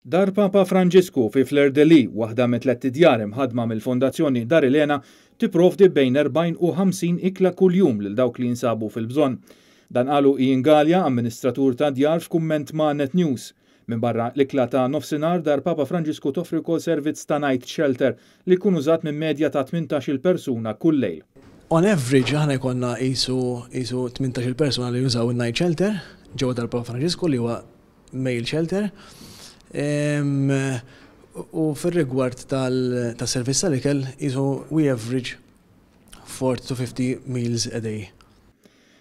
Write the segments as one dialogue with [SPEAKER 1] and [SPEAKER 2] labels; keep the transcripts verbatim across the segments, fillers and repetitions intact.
[SPEAKER 1] Dar Papa Franġisku fi Fleur de Lys, waħda mit tlett idjar imħaddma mill-Fondazzjoni Dar Elena, tipprovdi bejn erbgħin u ħamsin ikla kuljum lil dawk li jinsabu fil-bżonn. Dan qalu Ian Galea, amministratur ta' djar, f'kumment ma' Net News. Minn barra l-ikla ta' nofsinhar, Dar Papa Franġisku toffri wkoll servizz ta' night shelter li jkun użat minn medja ta' tmintax-il persuna kull lejl.
[SPEAKER 2] On average aħna jkollna qisu qisu tmintax-il persuna li jużaw il-night shelter ġewwa Dar Papa Franġisku, li huwa male shelter. U fir-rigward tal-servizz tal-ikel, qisu we average forty to fifty meals a day.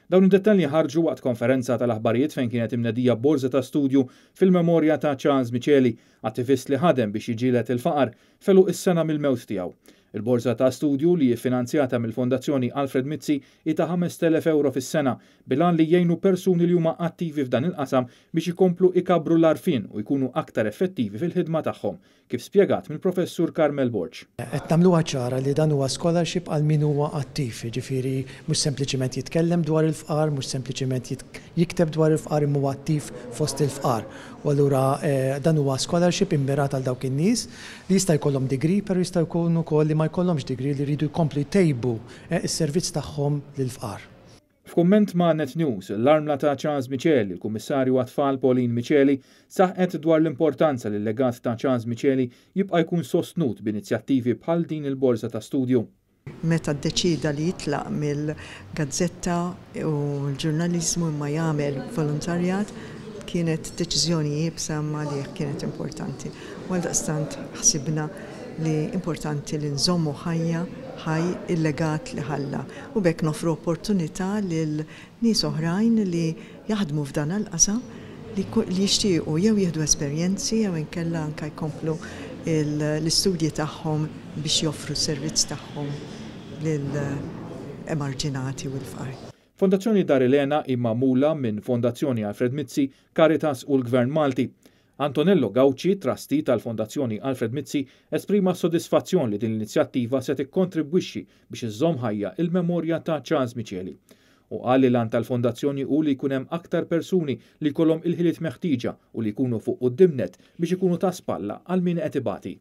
[SPEAKER 1] Dawn id-dettalji ħarġu waqt konferenza tal-aħbarijiet fejn kienet imnedija borza ta' studju fil-memorja ta' Charles Miceli, attivist li ħadem biex jiġġieled il-faqar f'għeluq is-sena mill-mewt tiegħu. Il-borza ta' studju, li finanzjata mill-Fondazzjoni Alfred Mizzi, hi ta' ħamest elef euro fis-sena bil-għan li jgħinu persuni li huma attivi f'dan il-qasam biex ikomplu ikabru l-għarfien u jkunu aktar effettivi fil-ħidma tagħhom, kif spjegat mill-Professur Carmel Borg.
[SPEAKER 3] Qed nagħmluha ċara li dan huwa scholarship għal min huwa attiv, ġifieri mhux sempliċiment jitkellem dwar il-fqar, mhux sempliċiment jikteb dwar il-fqar, imma huwa attiv fost il-fqar. U allura eh, dan huwa scholarship immirat għal dawk in-nies li jista' jkollhom degree, però jista' jkunu wkoll li ma jkollhomx degree, li jridu jkomplu jtejbu eh, is-servizz tagħhom lill-fqar.
[SPEAKER 1] F'kumment ma' Net News, l-armla ta' Charles Miceli, il-Kummissarju għat-Tfal Pauline Miceli, saħqet dwar l-importanza li l-legat ta' Charles Miceli jibqa' jkun sostnut b'inizjattivi bħal din il-borza ta' studju.
[SPEAKER 4] Meta ddeċida li jitlaq mill-gazzetta u l-ġurnalizmu imma jagħmel volontarjat, kienet deċiżjoni iebsa ma li kienet importanti. U għaldaqstant ħsibna li importanti li nżommu ħajja ħaj il-legat li ħalla u b'hekk noffru opportunità lil nies oħrajn li jaħdmu f'dan il-qasam li jixtiequ jew jieħdu esperjenzi jew inkella anka jkomplu l-istudji tagħhom biex joffru s-servizz tagħhom lill-emarġinati u l-fqar.
[SPEAKER 1] Fondazzjoni Dar Elena hi magħmula minn Fondazzjoni Alfred Mizzi, Caritas u l-Gvern Malti. Antonello Gauci, trustee tal-Fondazzjoni Alfred Mizzi, esprima sodisfazzjon li din l-inizjattiva se tikkontribwixxi biex iżżomm ħajja il-memorja ta' Charles Miceli. U qal li l-għan tal-fondazzjoni hu li jkun hemm aktar persuni li jkollhom il-ħiliet meħtieġa u li jkunu fuq quddiem nett biex ikunu ta' spalla għal min qed ibati.